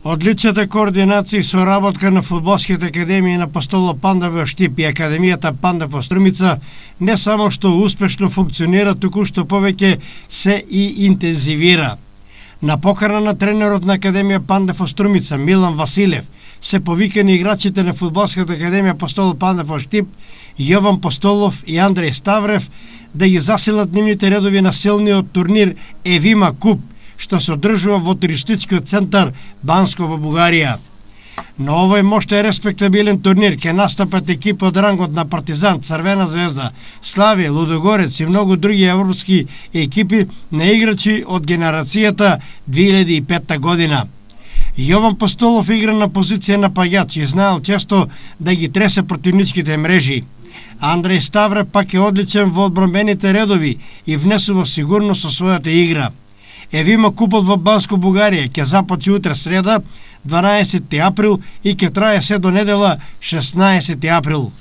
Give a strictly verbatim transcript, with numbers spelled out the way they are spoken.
Одличната координација и соработка на фудбалските академии на Апостолов Панда во Штип и Академијата Панда во Струмица не само што успешно функционира, туку што повеќе се и интензивира. На покана на тренерот на Академија Панда во Струмица Милан Василев се повикани играчите на фудбалската академија Апостолов Панда во Штип, Јован Постолов и Андреј Ставрев да ги засилат нивните редови на силниот турнир Евима Куп, што се одржува во туристичкиот центар Банско во Бугарија. На овој мощен респектабилен турнир ќе настапат екипи од рангот на Партизан, Црвена звезда, Славија, Лудогорец и многу други европски екипи на играчи од генерацијата две илјади и пета година. Јован Постолов игра на позиција напаѓач и знаел често да ги тресе противничките мрежи. Андреј Ставрев пак е одличен во одбранбените редови и внесува сигурност со својата игра. Евима Купот во Банско Бугарија ќе започне утре среда, дванаесети април и ќе трае се до недела шеснаесети април.